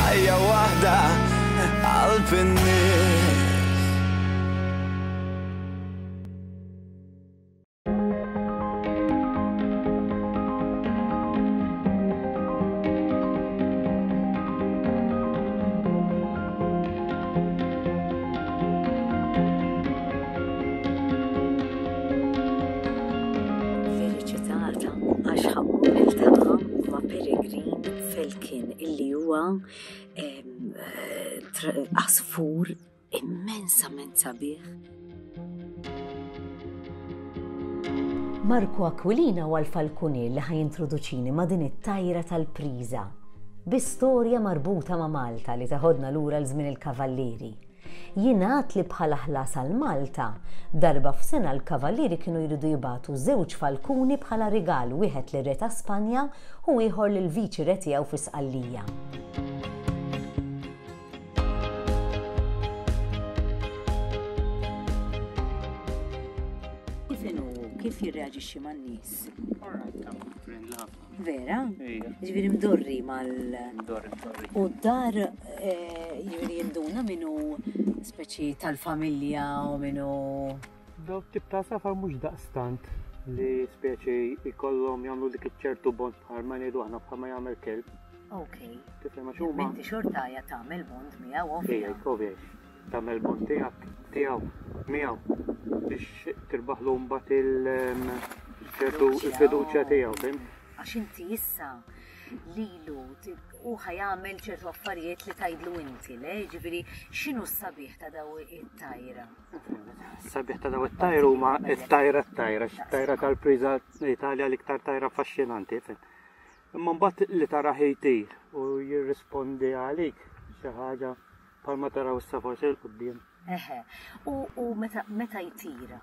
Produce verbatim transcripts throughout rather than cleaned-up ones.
Ħajja waħda qalb in-nies. Felicitata għax ħa mmur niltaqa' ma' Peregrine Falcon, illi huwa em, eh, tra- għasfur immensament sabiħ. Marco Aquilina huwa l-falkunier li ħa jintroduċini ma' din it-tajra tal-priża bi storja marbuta ma' Malta li teħodna lura l-żmien il-Kavallieri. Jingħad li bħala ħlas għal Malta, darba f'sena l-Kavallieri kienu jridu jibagħtu żewġ falkuni bħala rigal, wieħed lir-re ta' Spanja u ieħor lil viċi re tiegħu fi Sqallija. Kif inhu, kif jirreaġixxi man-nies? Friendly ħafna. Vera? Ija. Ġifieri mdorri mal Mdorri, mdorri. U d-dar eh, ġifieri jinduna minnu speċi tal-familja u minnu. Daw tip ta' safar mhux daqstant li speċi jkollhom jagħmlu dik iċ-ċertu bond bħal ma ngħidu aħna bħal ma jagħmel kelb. Ok. Tifhem, għax huma. Inti xorta ja tagħmel bond miegħu, ovvja. Ija, ovvja. Tagħmel bond tiegħek tiegħu miegħu biex tirbaħlu mbagħad il ċertu il-fiduċja tiegħu, fim? Għax inti issa lilu u ħa jagħmel ċertu affarijiet li tgħidlu inti, le? Ġifieri x'inhu s-sabiħ ta' daw it-tajra? Sabiħ ta' daw it-tajra huma it-tajra t-tajra, it-tajra tal-priża Italja l-iktar tajra affaxxinanti, fim? Imma mbagħad li tara jtir u jirrispondi għalik xi ħaġa bħalma taraw issa forsi 'l quddiem. Eħe. U, u meta, meta jtira,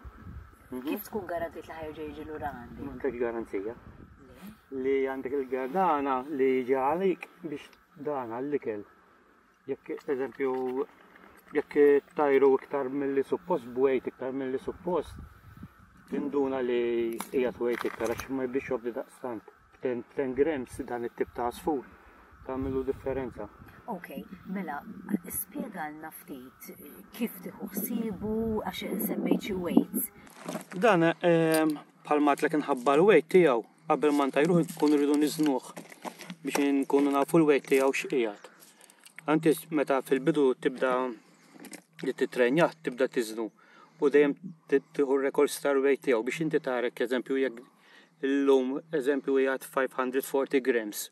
kif tkun garantit li ħa jerġa' jiġi lura għandi? M'għandek garanzija. Le? Li għandek il-gardana li jiġi għalik biex dana l-ikel. Jekk, eżempju, jekk tajru iktar mill-li suppost, b'weight iktar mill-li suppost, tinduna li qiegħed weight iktar għax ma jibdix jobdi daqstant. ten grams dan it-tip ta' għasfur tagħmilu differenza. Ok, mela, spjegalna ftit kif tieħu ħsiebu, għax semmejt xi weights. Dan ehm, bħalma għedtlek inħabba l-weight tiegħu, qabel ma ntajruh nkunu rridu niżnuh biex nkunu nafu l-weight tiegħu x'qiegħed. Anti meta fil-bidu tibda li titrenjah, tibda tiżnu u dejjem tieħu records tal-weight tiegħu biex inti tarek, eżempju, jekk illum, eżempju, qiegħed five hundred forty grams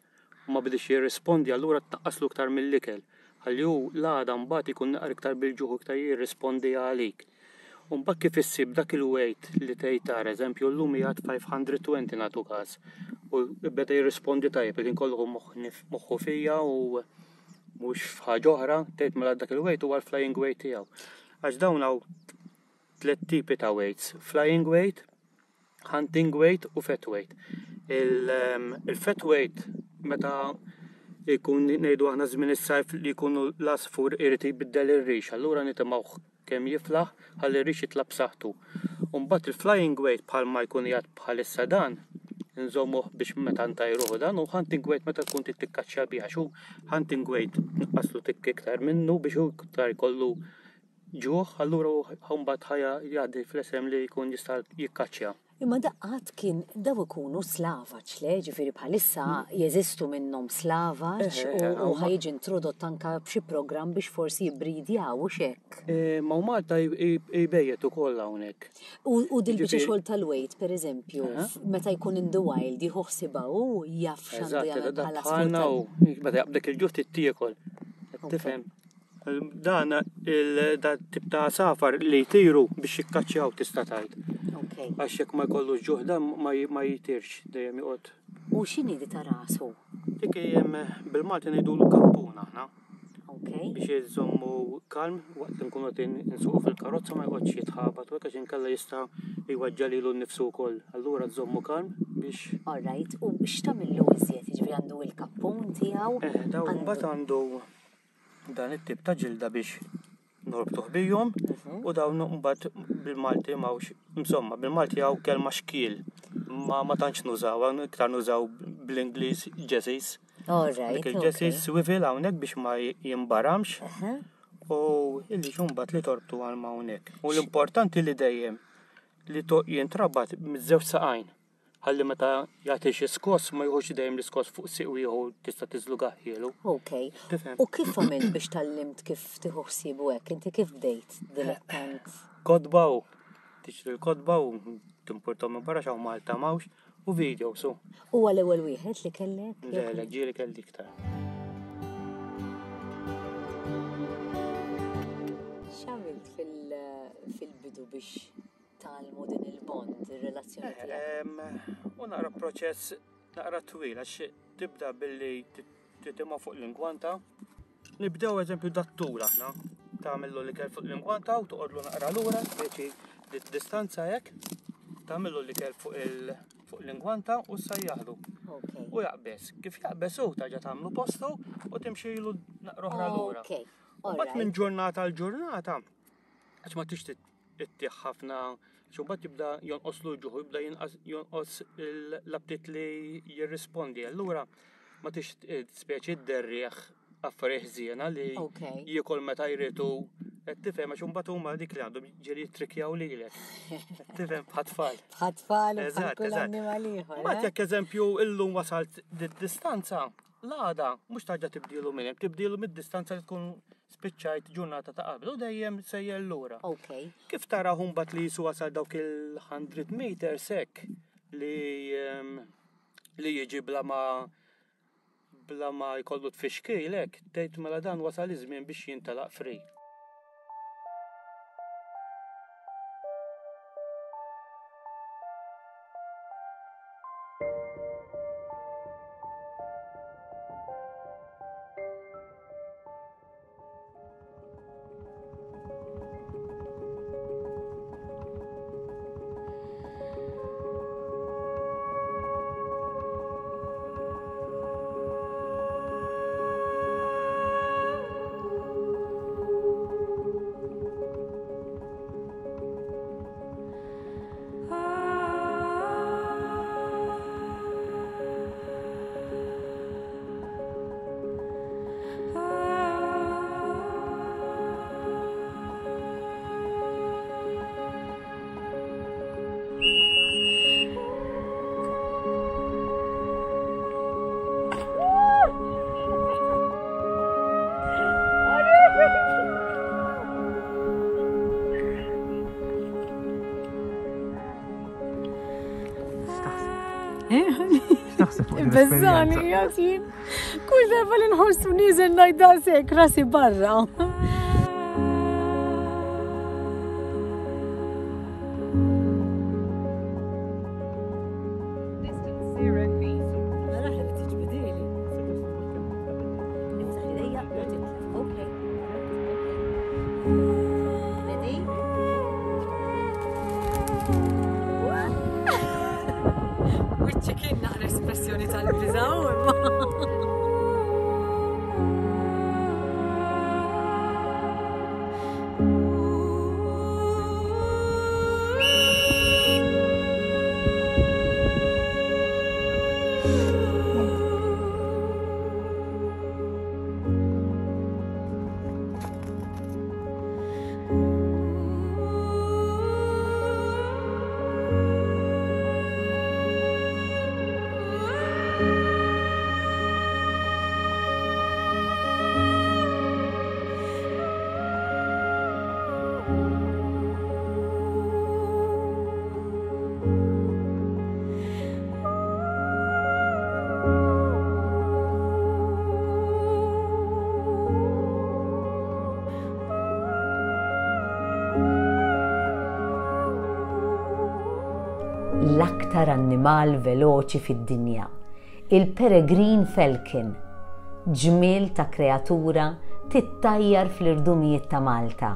u ma bidix jirrispondi, allura tnaqqaslu iktar mill-ikel. Ħalli hu l-għada mbagħad ikun naqra iktar bil-ġuħ, iktar jirrispondi għalik. U mbagħad kif issib dak il-weight li tgħid tara, eżempju, llum qiegħed five hundred twenty nagħtu każ u beda jirrispondi tajjeb, il kollu moħħu fija u mhux f'ħaġa oħra, tgħid mela dak il-weight huwa l-flying weight tiegħu. Għax dawn hawn tliet tipi ta' weights: flying weight, hunting weight u fat weight. Il-fat weight meta jkun, ngħidu aħna, żmien is-sajf li jkunu l-għasfur irid jbiddel ir-rix, allura nitimgħuh kemm jiflaħ ħalli r-rix jitla' b'saħħtu. U mbagħad il-flying weight bħalma jkun qiegħed bħalissa dan, nżommuh biex meta ntajruh dan, u hunting weight meta tkun trid tikkaċċja biha, xu hunting weight nqaslu tikk iktar minnu biex hu iktar jkollu ġuħ, allura hu mbagħad ħa jgħaddi fl-esem li jkun jista' jikkaċċja. Imma daqqat kien daw ikunu slavaċ, le? Ġifieri bħalissa jeżistu minnhom slavaċ Eh, eh, u ħa jiġi introdott anka b'xi programm biex forsi jibbridjaw u xek. Eh, Ma u Malta jbejjet ukoll hawnhekk. U, u dil-biċċa Ġifieri- xogħol tal-weight, per eżempju, Aha. meta jkun in the wild, jieħu ħsiba u jaf x'għandu Eżatt, jagħmel da bħala bħalna sfur. u meta jaqbdek il-ġuħ tiekol. Tifhem? Dan il da tip ta' safar li jtiru biex jikkaċċjaw, tista' tgħid. Ok. Għax jekk ma jkollux ġuħ dan ma ma jitirx, dejjem joqgħod. U x'inhi di ta' rasu? Dik hemm bil-Malti ngħidulu kappun aħna Ok. biex jżommu kalm waqt li nkunu qed insuqu fil-karozza, ma joqgħodx jitħabat u hekk, għax inkella jista' jweġġa' lilu nnifsu wkoll. Allura tżommu kalm biex All right, u x'tagħmillu iżjed? Jiġifieri għandu il-kappun tiegħu? Eh, daw għandu- mbagħad għandu dan it-tip ta' ġilda biex norbtuh bijhom u dawn mbagħad bil-Malti m'hawnx, insomma, bil-Malti hawn kelma xkiel, ma ma tantx nużaw, iktar nużaw bl-Ingliż jerseys. All right, Dik il-jessie okay. swivel hawnhekk biex ma jimbaramx Aha. u illi mbagħad li torbtu għal ma hawnhekk. U l-importanti li dejjem li to jintrabat miż-żewġ saqajn. Ħalli meta jagħti xi skoss ma jieħux dejjem l-iskoss fuq siq ieħor tista' tiżlugahielu. Ok. Tifhem. U kif għamilt biex tgħallimt kif tieħu ħsiebu hekk? Inti kif bdejt dilettant? Kotba u tixtri l-kotba u timpurtom minn barra x'hawn Malta m'hawnx u video su. U għal-ewwel wieħed li kellek? Le, le, ġieli kelli iktar. X'għamilt fil- fil-bidu biex tgħallmu din il-bond, ir-relazzjoni tiegħek? Em, U naqra proċess naqra twil għax tibda billi titimgħu fuq l-ingwanta. Nibdew eżempju dat-tul aħna. Tagħmillu l-ikel fuq l-ingwanta u toqgħodlu naqra lura, speċi distanza hekk. Tagħmillu l-ikel fuq il fuq l-ingwanta u ssajjaħlu. Ok. U jaqbeż. Kif jaqbeż hu terġa' tagħmlu postu u timxilu naqra oħra lura. Ok. U mbagħad minn ġurnata għal ġurnata, għax ma tix ittih ħafna, għax mbagħad jibda jonqoslu ġuħu, jibda jinqas- jonqos l-aptit li jirrispondi. Allura ma tix speċi dderrieħ affarijiet ħżiena li Ok. jiekol meta jridu. Qed tifhem għax imbagħad huma dik li għandhom ġieli jittrikjaw lilek. Qed tifhem bħat-tfal. Bħat-tfal u bħal Eżatt, kull eżatt. annimal ieħor. Mbagħad eh? jekk eżempju illum wasalt di-distanza, l-għada mhux tarġa' tibdilu minn hemm, tibdilu mid-distanza li tkun spiċċajt ġurnata ta' qabel u dejjem sejjer lura. Ok. Kif tara mbagħad li jisu wasal dawk il-hundred meters hekk li ehm, li jiġi bla ma bla ma jkollu tfixkil hekk, tgħid mela dan wasal iż-żmien biex jintelaq free. X'taħseb fuq din Bezzani, l-esperjenza? Jasin. Kull darba li nħossu nieżel ngħid daqshekk rasi barra. Distance zero feet. Naraħ li tiġbidili. Niftaħ idejja u titlef. Okay. Ready? Wiċċi kien naqra espressjoni tal-biża' imma. L-aktar annimal veloċi fid-dinja, il-Peregrine Falcon, ġmiel ta' kreatura tittajjar fl-irdumijiet ta' Malta.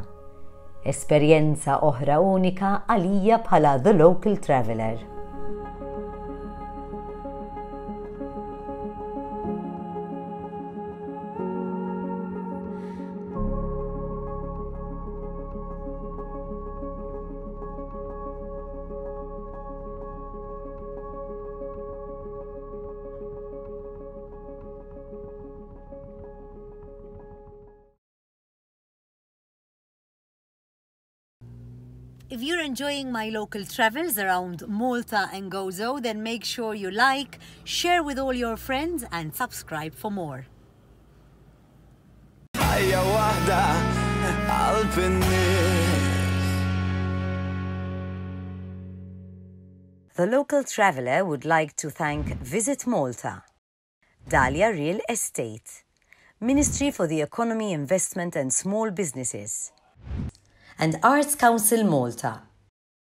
Esperjenza oħra unika għalija bħala The Local Traveller. If you're enjoying my local travels around Malta and Gozo, then make sure you like, share with all your friends and subscribe for more. Ħajja waħda qalb in-nies. The Local Traveller would like to thank Visit Malta, Dahlia Real Estate, Ministry for the Economy, Investment and Small Businesses, and Arts Council Malta.